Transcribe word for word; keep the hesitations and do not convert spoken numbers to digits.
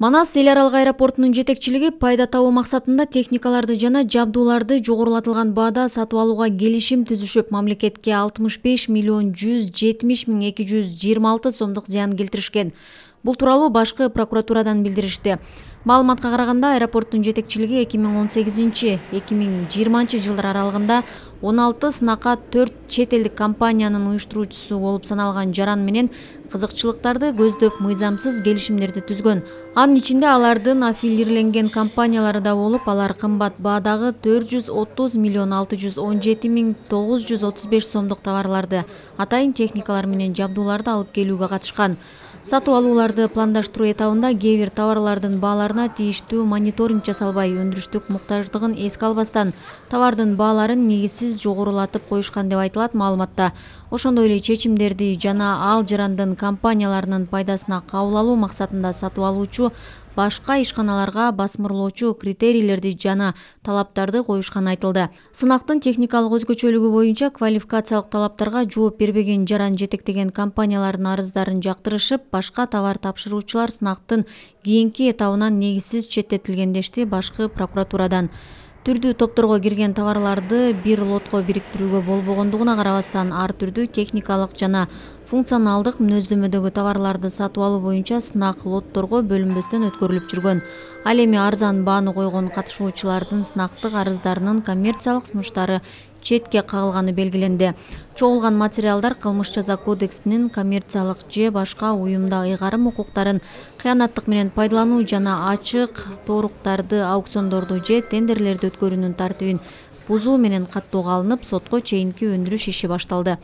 Манас эл аралык аэропортунун жетекчилиги пайда табуу максатында техникаларды жана жабдууларды жогорулатылган баада сатып алууга келишим түзүшүп, мамлекетке алтымыш беш миллион жүз жетимиш миң эки жүз жыйырма алты сомдук зыян келтиришкен. Бул тууралуу башкы прокуратурадан билдиришти. Маалыматка караганда, аэропорттун жетекчилиги эки миң он сегизинчи — эки миң жыйырманчы жылдар аралыгында он алты сынакка төрт чет элдик компаниянын уюштуруучусу болуп саналган жаран менен кызыкчылыктарды көздөп мыйзамсыз келишимдерди түзгөн. Анын ичинде алардын аффилирленген компаниялары да болуп, алар кымбат баадагы төрт жүз отуз миллион алты жүз он жети миң тогуз жүз отуз беш сомдук товарларды, атайын техникалар менен жабдууларды алып келүүгө катышкан. Сатып алууларды пландаштыруу этабында кээ бир товарлардын бааларына тийиштүү мониторинг жасалбай, өндүрүштүк муктаждыгын эске албастан товардын бааларын негизсиз жогорулатып коюшкан деп айтылат маалыматта. Ошондой эле чечимдерди жана ал жарандын компанияларынын пайдасына кабыл алуу максатында сатып алуучу башка ишканаларга басмырлоочу критерийлерди жана талаптарды коюшканы айтылды. Сынактын техникалык өзгөчөлүгү боюнча квалификациялык талаптарга жооп бербеген жаран жетектеген компаниялардын арыздарын жактырышып, башка товар тапшыруучулар сынактын кийинки этабынан негизсиз четтетилген дешти башкы прокуратурадан. Түрдүү топторго кирген товарларды бир лотко бириктирүүгө болбогондугуна карабастан, ар түрдүү техникалык жана функционалдык мүнөздөмөдөгү товарларды сатып алуу боюнча сынак лотторго бөлүнбөстөн өткөрүлүп жүргөн. Ал эми арзан бааны койгон катышуучулардын сынактык арыздарынын коммерциялык сунуштары четке кагылганы белгиленди. Чогулган материалдар кылмыш жаза кодексинин коммерциялык же башка уюмда ыйгарым укуктарын кыянаттык менен пайдалануу жана ачык тооруктарды, аукциондорду же тендерлерди өткөрүүнүн тартибин бузуу менен каттоого алынып, сотко чейинки өндүрүш иши башталды.